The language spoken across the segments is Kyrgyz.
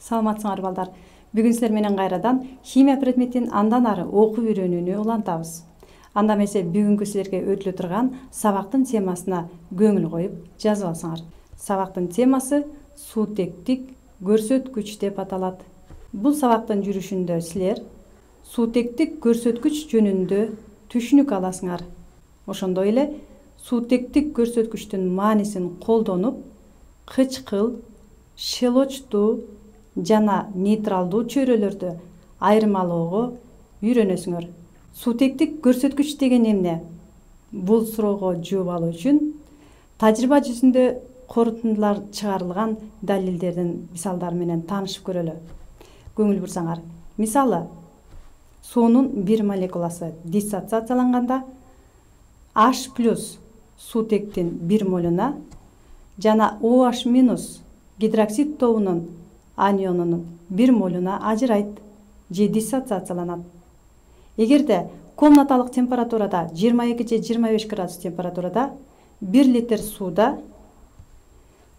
Саламатсыңар балдар. Бүгүн силер менен кайрадан химия предметин андан ары окуп үйрөнүүнү улантабыз. Анда эмесе бүгүнкү силерге өтүлө турган сабактын темасына көңүл коюп жазып алсаңар. Сабактын темасы суутектик көрсөткүч деп аталат. Бул сабактын жүрүшүндө силер суутектик көрсөткүч жөнүндө түшүнүк аласыңар. Ошондой эле суутектик көрсөткүчтүн маанисин колдонуп, кычкыл, шелочтуу жана нейтралдуу чөйрөлөрдү айырмалоого үйрөнөсүңөр. Суутектик көрсөткүч деген эмне? Бул суроого жооп алуу үчүн тажрыйба жүзүндө корутундулар чыгарылган далилдердин мисалдары менен таанышып көрөлү. Көңүл бурсаңар, мисалы, суунун бир молекуласы диссоциацияланганда H+ суутектин 1 молуна жана OH- гидроксид тобунун анионунун 1 молуна ажырайт же диссоциацияланат. Эгерде комнаталык температурада 22 же 25 градус температурада 1 литр сууда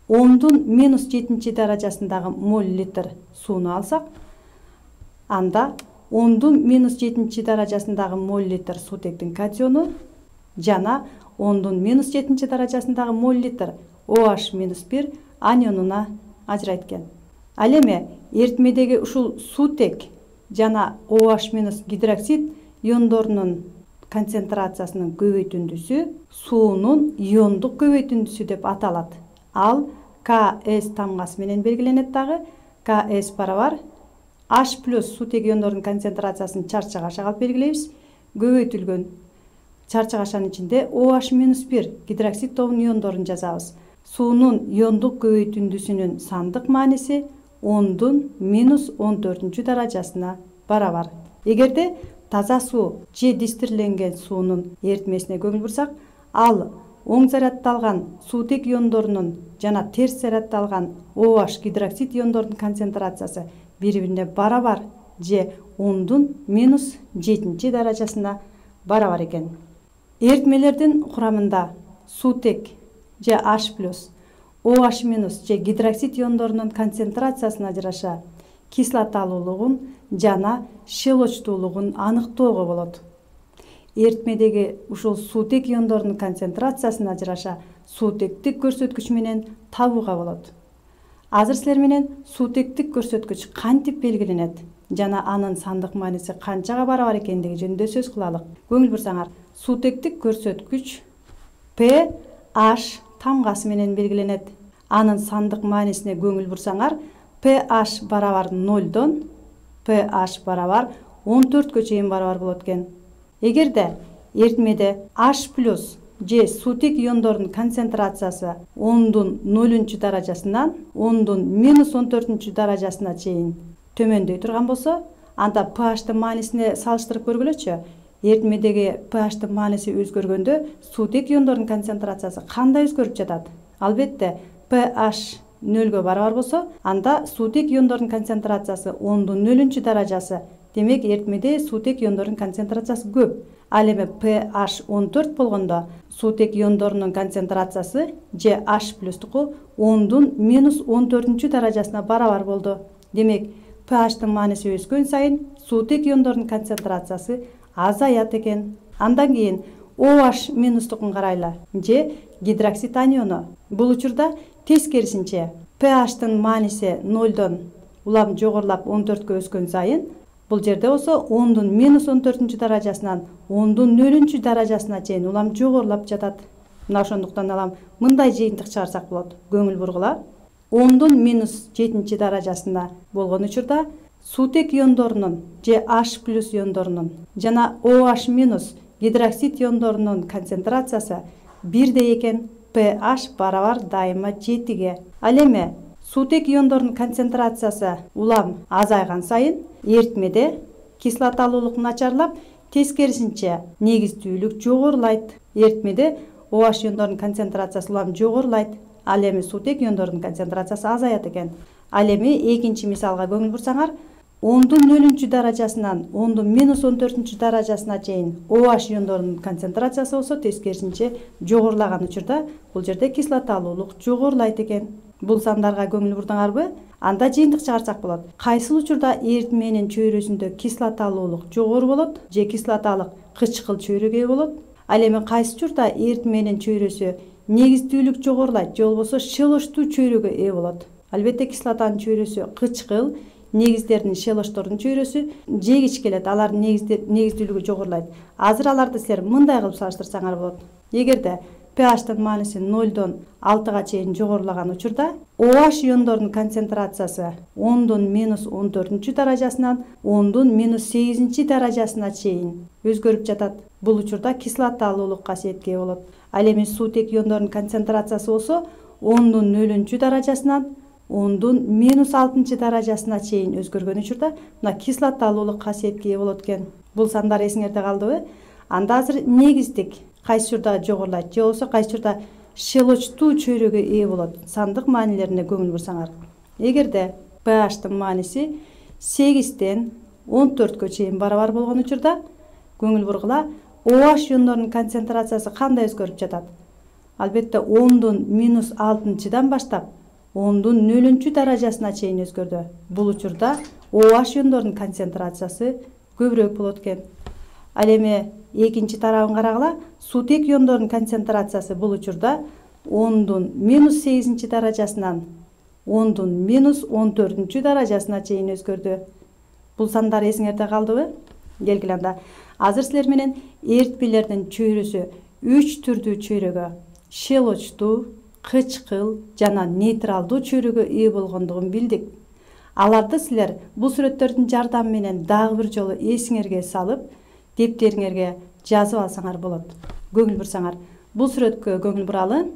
10⁻7 даражасындагы моль литр сууну алсак, анда 10⁻7 даражасындагы моль литр суутектин катиону жана 10⁻7 даражасындагы моль литр OH- анионуна ажырайт экен. Ал эми эритмедеги ушул суутек жана OH- гидроксид иондорунун концентрациясынын көбөйтүндүсү суунун иондук көбөйтүндүсү деп аталат. Ал Ks тамгасы менен белгиленет дагы. Ks барабар H+ суутек иондорунун концентрациясын чарчак ашага алып белгилейбиз. Көбөйтүлгөн чарчак ашанын ичинде OH- гидроксид тобунун иондорун жазабыз. Суунун иондук көбөйтүндүсүнүн сандык мааниси 10⁻14 даражасына барабар. Эгерде таза суу же дистирленген суунун эритмесине көңүл бурсак, ал оң заряддалган суутек иондорунун жана терс заряддалган OH гидроксид иондорунун концентрациясы бири-бирине барабар же 10⁻7 даражасына барабар экен. Эритмелердин курамында суутек же H+, OH- же гидроксид иондорунун концентрациясына жараша кислоталуулугун жана шелочтуулугун аныктоого болот. Эритмедеги ушул суутек иондорунун концентрациясына жараша суутектик көрсөткүч менен табууга болот. Азыр силер менен суутектик көрсөткүч кантип белгиленет жана анын сандык мааниси канчага барабар экендиги жөнүндө сөз кылалык. Көңүл бурсаңар, суутектик көрсөткүч pH тамгасы менен белгиленет. Анын сандык маанисине көңүл бурсаңар, pH барабар 0дон pH барабар 14 чейин барабар болот экен. Эгерде эритмеде H+ же суутек иондорунун концентрациясы 10⁻0 даражасынан 10⁻14 даражасына чейин төмөндөй турган болсо, анда pH'тын маанисине салыштырып көргүлөчү. Эритмедеги pH'тын мааниси өзгөргөндө суутек иондорунун концентрациясы кандай өзгөрүп жатат? Албетте, pH 0гө барабар болсо, анда суутек иондорунун концентрациясы 10⁻0 даражасы. Демек, эритмеде суутек иондорунун концентрациясы көп. Ал эми pH 14 болгондо суутек иондорунун концентрациясы же H+туку 10⁻14 даражасына барабар болду. Демек, pH'тын мааниси өскөн сайын суутек иондорунун концентрациясы азаят экен. Андан кийин OH- карайлы же гидроксид аниону. Бул учурда тескерисинче pH'тын мааниси 0дон улам жогорулап 14кө өскөн сайын, бул жерде болсо 10⁻14 даражасынан 10⁻0 даражасына чейин улам жогорулап жатат. Мына ошондуктан алам мындай жыйынтык чыгарсак болот. Көңүл бургула. 10⁻7 даражасында болгон учурда суутек иондорунун же H+ иондорунун жана OH- гидроксид иондорунун концентрациясы бирдей экен. pH барабар дайыма 7ге. Ал эми суутек иондорунун концентрациясы улам азайган сайын эритмеде кислоталуулук начарлап, тескерисинче негиздүүлүк жогорулайт. Эритмеде OH иондорунун концентрациясы улам жогорулайт. Ал эми суутек иондорунун концентрациясы азаят экен. Ал эми экинчи мисалга көңүл бурсаңар, 10⁻0 даражасынан 10⁻14 даражасына чейин OH иондорунун концентрациясы болсо, тескерисинче жогорулаган учурда бул жерде кислоталуулук жогорулайт экен. Бул сандарга көңүл бурдуңарбы? Анда жыйынтык чыгарсак болот. Кайсыл учурда эритменин чөйрөсүндө кислоталуулук жогору болот же кислоталык кычкыл чөйрөгө ээ болот? Ал эми кайсы учурда эритменин чөйрөсү негиздүүлүк жогорулайт же болбосо шелоштуу чөйрөгө ээ болот? Албетте кислотанын чөйрөсү кычкыл, негиздердин шелоштордун чөйрөсү жегич келет, алардын негиздүүлүгү жогорулайт. Азыр аларды силер мындай кылып салыштырсаңар болот. Эгерде pH'тын мааниси 0-дон 6-га чейин жогорулаган учурда OH иондорунун концентрациясы 10-дон -14 даражасынан 10-дон -8 даражасына чейин өзгөрүп жатат. Бул учурда кислоталуулук касиетке ээ болот. Ал эми суутек иондорунун концентрациясы болсо 10-дон 0 даражасынан 10-дон -6 даражасына чейин өзгөргөн учурда мына кислоталуулук касиетке ээ болот экен. Бул сандар эсиңерде калдыбы? Анда азыр негиздик кайсы учурда жогорулайт же болбосо кайсы учурда шелочтуу чөйрөгө ээ болот? Сандык маанилерине көңүл бурсаңар. Эгерде pH'тын мааниси 8-ден 14-кө чейин барабар болгон учурда көңүл бургула, OH иондорунун концентрациясы кандай өзгөрүп жатат? Албетте 10-дон -6-дан баштап 10-дон 0 даражасына чейин өзгөрдү. Бул учурда OH иондорунун концентрациясы көбүрөөк болот экен. Ал эми экинчи тарабын карагыла, суутек иондорунун концентрациясы бул учурда 10-дон -8 даражасынан 10-дон -14 даражасына чейин өзгөрдү. Бул сандар эсиңерде калдыбы? Келгиле анда. Азыр силер менен эритмелердин чөйрөсү 3 түрдүү чөйрөгө, шелочтуу, кычкыл жана нейтралдуу чөйрөгө ээ болгондугун билдик. Аларды силер бул сүрөттөрдүн жардамы менен дагы бир жолу эсиңерге салып, дептериңерге жазып алсаңар болот. Көңүл бурсаңар. Бул сүрөткө көңүл буралы.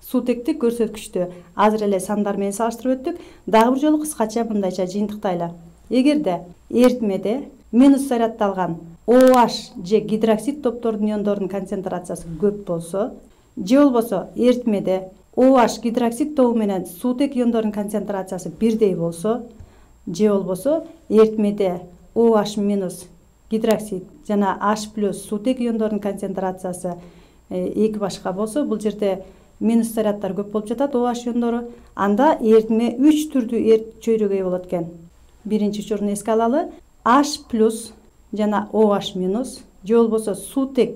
Суутектик көрсөткүчтү азыр эле сандар менен салыштырып өттүк. Дагы бир жолу кыскача мындайча жыйынтыктайлы. Эгерде эритмеде минус зарядталган OH же гидроксид топтордун иондорунун концентрациясы көп болсо, же болбосо эритмеде OH гидроксид тобу менен суутек иондорунун концентрациясы бирдей болсо, же болбосо эритмеде OH минус гидроксид жана H+ суутек иондорунун концентрациясы эки башка болсо, бул жерде минус зарядтар көп болуп жатат, OH иондору. Анда эритме 3 түрдүү чөйрөгө ээ болот экен. Биринчи учурун эске алалы. H+ жана OH- же болбосо суутек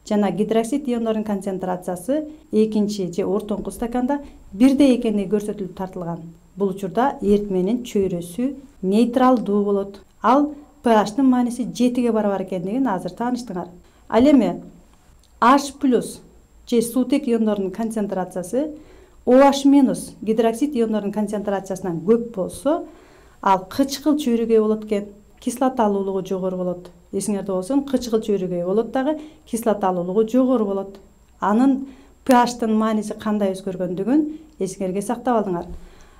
жана гидроксид иондорунун концентрациясы экинчи же ортоңку стаканда бирдей экени көрсөтүлүп тартылган. Бул учурда эритменин чөйрөсү нейтралдуу болот. Ал pH'тын мааниси 7-ге барабар экендигин азыр тааныштыңар. Ал эми H+ же суутек иондорунун концентрациясы OH- гидроксид иондорунун концентрациясынан көп болсо, ал кычкыл чөйрөгө ээ болот экен. Кислоталуулугу жогору болот. Эсиңерде болсун, кычкыл чөйрөгө ээ болот дагы, кислоталуулугу жогору болот. Анын pH'тын мааниси кандай өзгөргөндүгүн эсиңерге сактап алыңар.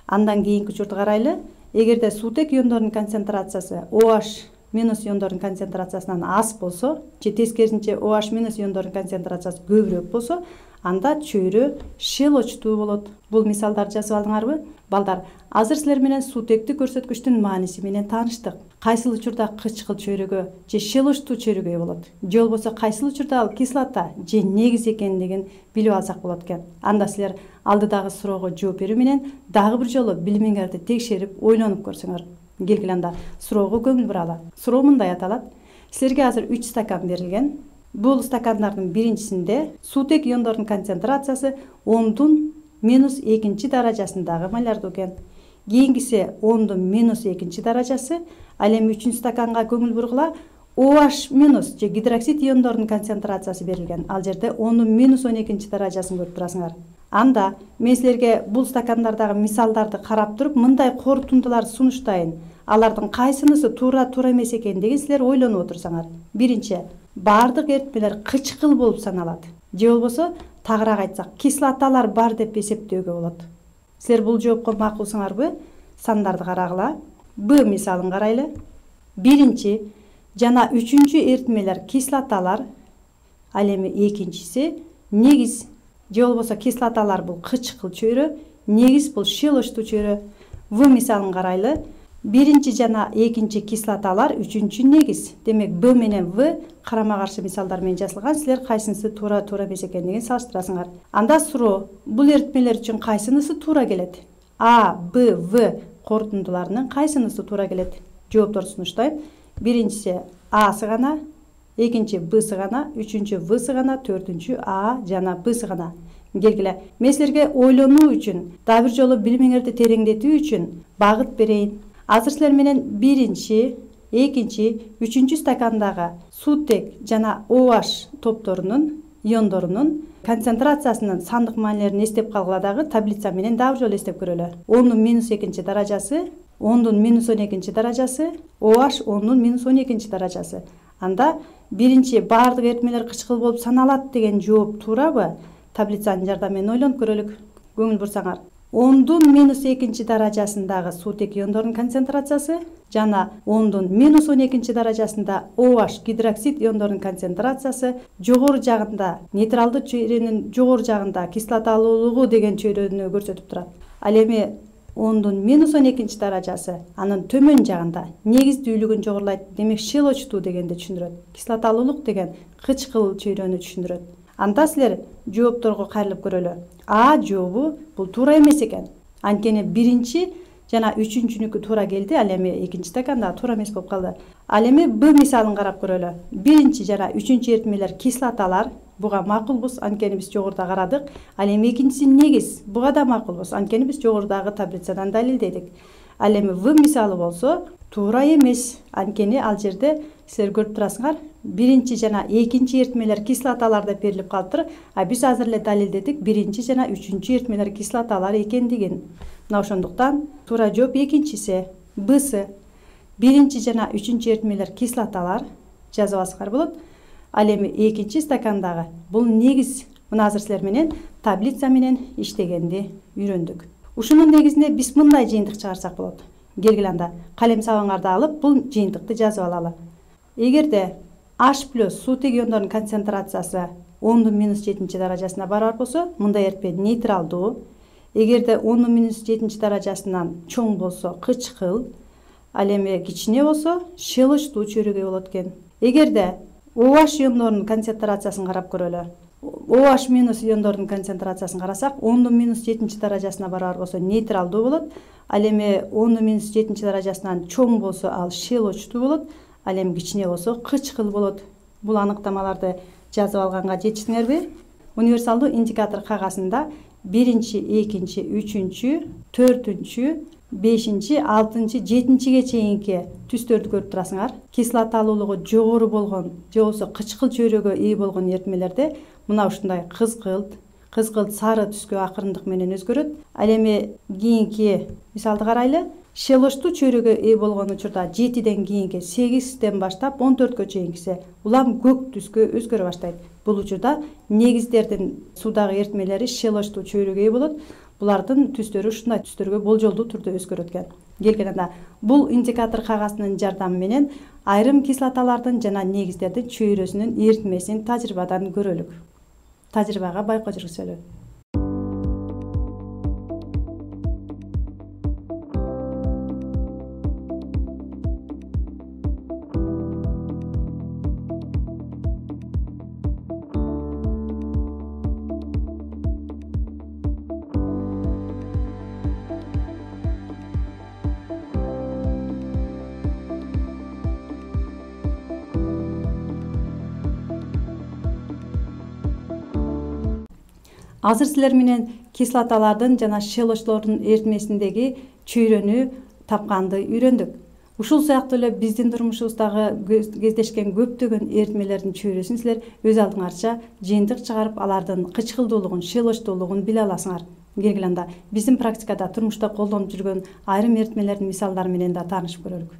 Андан кийинки учурду карайлы. Эгерде суутек иондорунун концентрациясы OH- иондорунун концентрациясынан аз болсо, же тескерисинче OH- иондорунун концентрациясы көбүрөөк болсо, анда чөйрө шелочтуу болот. Бул мисалдарды жазып алдыңарбы? Балдар, азыр силер менен суутектик көрсөткүчтүн мааниси менен тааныштык. Кайсыл учурда кычкыл чөйрөгө же шелочтуу чөйрөгө ээ болот? Же болбосо кайсыл учурда ал кислота же негиз экендигин билип алсак болот экен. Анда силер алдыдагы суроого жооп берүү менен дагы бир жолу билимиңерди текшерип, ойлонуп көрсөңөр. Келгиле анда суроого көңүл буралы. Суроо мындай аталат. Силерге азыр 3 стакан берилген. Бул стакандардын биринчисинде суутек иондорунун концентрациясы 10-дон -2 даражасындагы малярдуу экен. Кийинкиси 10-дон -2 даражасы. Ал эми 3-үнчү стаканга көңүл бургула. OH- же гидроксид иондорунун концентрациясы берилген. Ал жерде 10-дон -12 даражасын көрүп турасыңар. Анда мен силерге бул стакандардагы мисалдарды карап туруп, мындай корутундулар сунуштайын. Алардын кайсынысы туура эмес экендигин силер ойлонуп отурсаңар. Биринчи, баардык эритмелер кычкыл болуп саналат. Же болбосо, тагыраак айтсак, кислоталар бар деп эсептөөгө болот. Силер бул жоопко макулсыңарбы? Сандарды карагыла. Б мисалын карайлы. Биринчи жана 3-үчү эритмелер кислоталар, ал эми экинчиси негиз. Же болбосо кислоталар бул кычкыл чөйрө, негиз бул шелочтуу чөйрө. В мисалын карайлы. Биринчи жана экинчи кислоталар, 3-үчү негиз. Демек Б менен В карама каршы мисалдар менен жазылган. Силер кайсынысы туура эмес экендигин салыштырасыңар. Анда суроо, бул эритмелер үчүн кайсынысы туура келет? А, Б, В корутундуларынын кайсынысы туура келет? Жоопторду сунуштайм. Биринчиси А сыгана, экинчи Б сыгана, үчүнчү В сыгана, төртүнчү А жана Б сыгана. Келгиле, мен силерге ойлонуу үчүн, дагы бир жолу билимиңерди тереңдетүү үчүн багыт берейин. Азыр силер менен биринчи, экинчи, үчүнчү стакандагы сутек жана OH топторунун, иондорунун концентрациясынын сандык маанилерин эстеп калгыла дагы таблица менен дагы бир жолу эстеп көрөлү. 10⁻2 даражасы, 10⁻12 даражасы, OH 10⁻12 даражасы. Анда биринчи баардык эритмелер кычкыл болуп саналат деген жооп туурабы? Таблицанын жардамы менен ойлонуп көрөлүк. Көңүл бурсаңар. 10⁻2 даражасындагы сутек иондорунун концентрациясы жана 10⁻12 даражасында OH гидроксид иондорунун концентрациясы жогору жагында, нейтралдуу чөйрөнүн жогору жагында кислоталуулугу деген чөйрөнү көрсөтүп турат. Ал эми 10⁻12 даражасы анын төмөн жагында негиздүүлүгүн жогорулайт. Демек щелочтуу дегенди түшүндүрөт. Кислоталуулук деген кычкыл чөйрөнү түшүндүрөт. Анда силер жоопторго кайрылып көрөлү. А жообу бул туура эмес экен. Анткени биринчи жана үчүнчүнүкү туура келди, ал эми экинчи стаканда туура эмес болуп калды. Ал эми Б мисалын карап көрөлү. Биринчи жана үчүнчү эритмелер кислоталар, буга макулбуз, анткени биз жогоруда карадык. Ал эми экинчиси негиз, буга да макулбуз, анткени биз жогорудагы таблицадан далилдедик. Ал эми В мисалы болсо туура эмес, анткени ал жерде силер көрүп турасыңар, биринчи жана экинчи эритмелер кислоталар деп берилип калыптыр, а биз азыр эле далилдедик биринчи жана үчүнчү эритмелер кислоталар экендигин. Мына ошондуктан туура жооп экинчиси, Бсы. Биринчи жана үчүнчү эритмелер кислоталар жазып алсаңар болот. Ал эми экинчи стакандагы бул негиз. Мына азыр силер менен таблица менен иштегенди үйрөндүк. Ушунун негизинде биз мындай жыйынтык чыгарсак болот. Келгиле анда калем сабаңарды алып бул жыйынтыкты жазып алалы. Эгерде H+ сутек иондорунун концентрациясы 10⁻7 даражасына барар болсо, мындай эритме нейтралдуу. Эгерде 10⁻7 даражасынан чоң болсо кычкыл, ал эми кичине болсо щелочтуу чөйрөгөй болот экен. Эгерде OH иондорунун концентрациясын карап көрөлү. OH- иондорунун концентрациясын карасак, 10⁻7 даражасына барар болсо нейтралдуу болот. Ал эми 10⁻7 даражасынан чоң болсо ал щелочтуу болот. Ал эми кичине болсо кычкыл болот. Бул аныктамаларды жазып алганга жетиштиңерби? Универсалдуу индикатор кагазында биринчи, экинчи, үчүнчү, төртүнчү, бешинчи, алтынчы, жетинчиге чейинки түстөрдү көрүп турасыңар. Кислоталуулугу жогору болгон же болбосо кычкыл чөйрөгө ээ болгон эритмелерде мына ушундай кызгылт сары түскө акырындык менен өзгөрөт. Ал эми кийинки мисалды карайлы. Щелочтуу чөйрөгө ээ болгон учурда 7ден кийинки 8ден баштап 14кө чейинкиси улам көк түскө өзгөрө баштайт. Бул учурда негиздердин суудагы эритмелери щелочтуу чөйрөгө ээ болот. Булардын түстөрү ушундай түстөргө болжолдуу түрдө өзгөрөт экен. Келгенде бул индикатор кагазынын жардамы менен айрым кислоталардын жана негиздердин чөйрөсүнүн эритмесин тажрыйбадан көрөлүк. Тажрыйбага байкоо жүргүзөлү. Азыр силер менен кислоталардын жана щелочтолордун эритмесиндеги чөйрөнү тапканды үйрөндүк. Ушул сыяктуу эле биздин турмушубуздагы кездешкен көптөгөн эритмелердин чөйрөсүн силер өз алдыңарча жыйынтык чыгарып, алардын кычкылдуулугун, щелочтуулугун биле аласыңар. Келгиле анда биздин практикада турмушта колдонуп жүргөн айрым эритмелердин мисалдары менен да таанышып көрөлүк.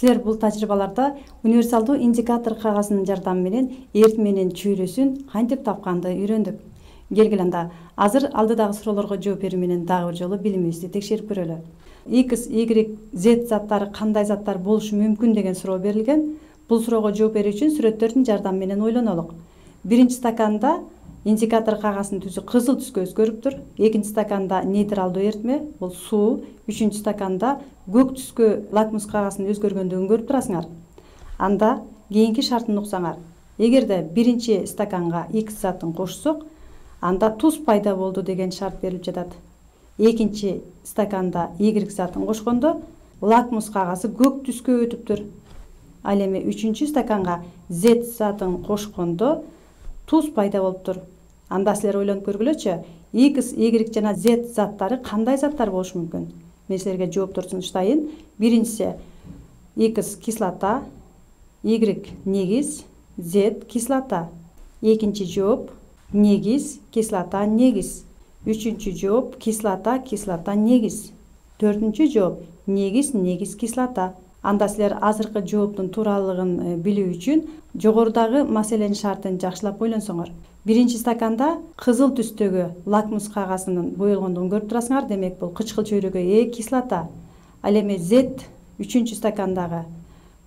Силер бул тажрыйбаларда универсалдуу индикатор кагазынын жардамы менен эритменин чөйрөсүн кантип тапканды үйрөндүк. Келгиле анда азыр алдыдагы суроолорго жооп берүү менен дагы бир жолу билимибизди текшерип көрөлү. X, Y, Z заттары кандай заттар болушу мүмкүн деген суроо берилген. Бул суроого жооп берүү үчүн сүрөттөрдүн жардамы менен ойлонолук. Биринчи стаканда индикатор кагаздын түсү кызыл түскө өзгөрүптүр. Экинчи стаканда нейтралдуу эритме, бул суу. Үчүнчү стаканда көк түскө лакмус кагаздын өзгөргөндүгүн көрүп турасыңар. Анда кийинки шартын уксаңар. Эгерде биринчи стаканга X затын кошсок, анда туз пайда болду деген шарт берилип жатат. Экинчи стаканда Y затын кошкондо лакмус кагазы көк түскө өтүптүр. Ал эми үчүнчү стаканга Z затын кошкондо туз пайда болуптур. Анда силер ойлонуп көргүлөчү, X, Y жана Z заттары кандай заттар болушу мүмкүн? Мен силерге жооптор сунуштайын. Биринчиси X кислота, Y негиз, Z кислота. Экинчи жооп негиз, кислота, негиз. Үчүнчү жооп кислота, кислота, негиз. Төртүнчү жооп негиз, негиз, кислота. Анда силер азыркы жооптун тууралыгын билүү үчүн жогорудагы маселенин шартын жакшылап ойлонсоңор. Биринчи стаканда кызыл түстөгү лакмус кагазынын боелгондугун көрүп турасыңар. Демек бул кычкыл чөйрөгө кислота. Ал эми Z үчүнчү стакандагы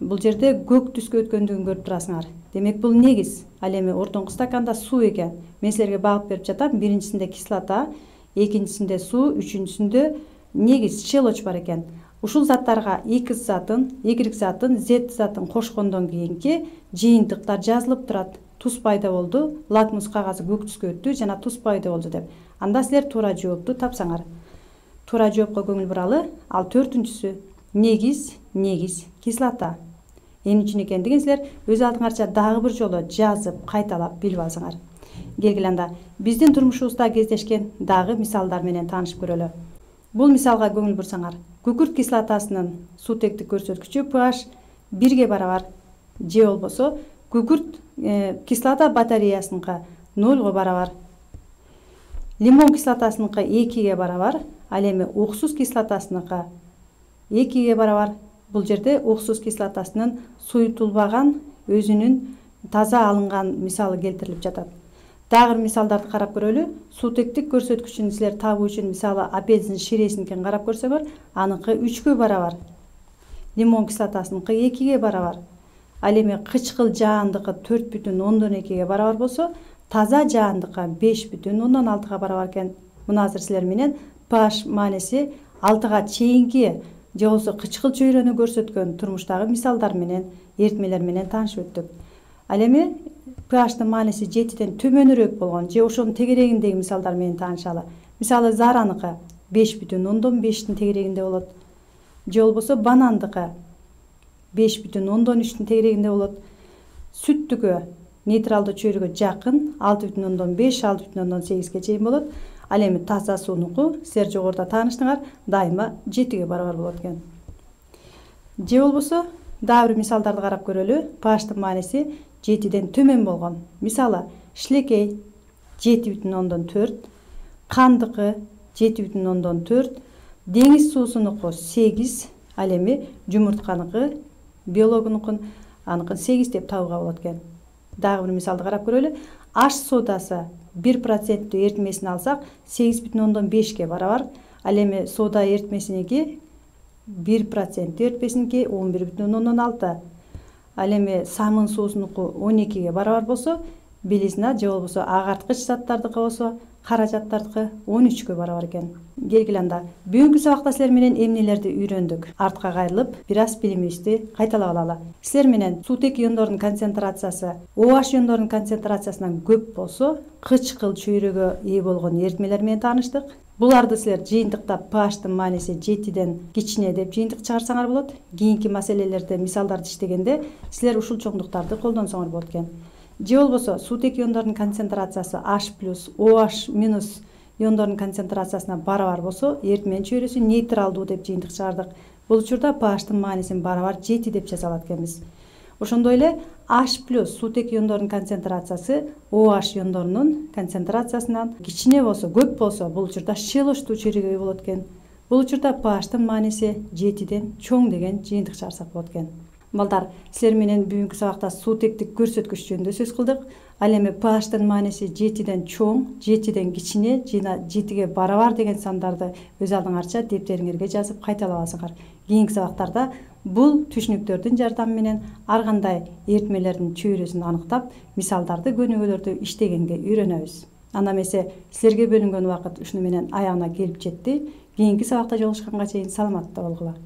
бул жерде көк түскө өткөндүгүн көрүп турасыңар. Демек бул негиз. Ал эми ортоңку стаканда суу экен. Мен силерге багып берип жатам. Биринчисинде кислота, экинчисинде суу, үчүнчүсүндө негиз, щелочь бар экен. Ушул заттарга X затын, Y затын, Z затын кошкондон кийинки жыйынтыктар жазылып турат. Туз пайда болду, лакмус кагазы көк түскө өттү жана туз пайда болду деп. Анда силер туура жоопту тапсаңар. Туура жоопко көңүл буралы. Ал төртүнчүсү негиз, негиз, кислота. Эмне үчүн экендигин силер өз алдыңарча дагы бир жолу жазып, кайталап билип алсаңар. Келгиле анда биздин турмушубузда кездешкен дагы мисалдар менен таанышып көрөлү. Бул мисалга көңүл бурсаңар, күкүрт кислотасынын суутектик көрсөткүчү pH 1ге барабар, же болбосо күкүрт кислота батареясыныкы 0го барабар. Лимон кислотасыныкы 2ге барабар, ал эми уксус кислотасыныкы 2ге барабар. Бул жерде уксус кислотасынын суютулбаган, өзүнүн таза алынган мисалы келтирилип жатат. Дагы бир мисалдарды карап көрөлү. Суутектик көрсөткүчүн силер табуу үчүн мисалы апельсин ширесиникин карап көрсөңөр, аныкы 3гө барабар. Лимон кислотасыныкы 2ге барабар. Ал эми кычкыл жаандыкы 4,2ге барабар болсо, таза жаандыкы 5,6га барабар экен. Муну азыр силер менен pH мааниси 6га чейинки же болбосо кычкыл чөйрөнү көрсөткөн турмуштагы мисалдар менен, эритмелер менен таанышып өттүк. Ал эми pH'тын мааниси 7ден төмөнүрөөк болгон же ошонун тегерегиндеги мисалдар менен таанышалы. Мисалы зараныкы 5,5тин тегерегинде болот. Же болбосо банандыкы 5,3тин тегерегинде болот. Сүттүкү нейтралдуу чөйрөгө жакын 6,5, 6,8ге чейин болот. Ал эми таза суунуку силер жогоруда тааныштыңар, дайыма 7ге барабар болот экен. Же болбосо дагы бир мисалдарды карап көрөлү. pH'тын мааниси 7ден төмөн болгон. Мисалы шилекей 7,4, кандыкы 7,4, деңиз суусунуку 8, ал эми жумуртканыкы, биологунукун аныкын 8 деп табууга болот экен. Дагы бир мисалды карап көрөлү. Аш содасы 1% эритмесин алсак 8,5ге барабар. Ал эми сода эритмесиники 1% эритмесиники 11,6. Ал эми самын суусунуку 12ге барабар болсо, белизна же болбосо агарткыч заттардыкы болсо, каражаттардыкы 13гө барабар экен. Келгиле анда бүгүнкү сабакта силер менен эмнелерди үйрөндүк? Артка кайрылып, бир аз билимибизди кайталап алалы. Силер менен суутек иондордун концентрациясы OH иондордун концентрациясынан көп болсо, кычкыл чөйрөгө ээ болгон эритмелер менен тааныштык. Буларды силер жыйынтыктап pH'тын мааниси 7ден кичине деп жыйынтык чыгарсаңар болот. Кийинки маселелерде мисалдарды иштегенде силер ушул чоңдуктарды колдонсоңор болот экен. Же болбосо суутек иондордун концентрациясы H+, OH- иондордун концентрациясына барабар болсо, эритменин чөйрөсү нейтралдуу деп жыйынтык чыгардык. Бул учурда pH'тын маанисин барабар 7 деп жаза алат экенбиз. Ошондой эле H+ суутек иондордун концентрациясы OH иондорунун концентрациясынан кичине болсо, көп болсо, бул учурда щелочтуу чөйрөгө ээ болот экен. Бул учурда pH'тын мааниси 7ден чоң деген жыйынтык чыгарсак болот экен. Балдар, силер менен бүгүнкү сабакта суутектик көрсөткүч жөнүндө сөз кылдык. Ал эми pH'тын мааниси 7ден чоң, 7ден кичине жана 7ге барабар деген сандарды өз алдыңарча дептериңерге жазып кайталабасыңар. Кийинки сабактарда бул түшүнүктөрдүн жардамы менен ар кандай эритмелердин чөйрөсүн аныктап, мисалдарды, көнүгүүлөрдү иштегенге үйрөнөбүз. Анда эмесе силерге бөлүнгөн убакыт ушуну менен аягына келип жетти. Кийинки сабакта жолугушканга чейин саламатта болгула.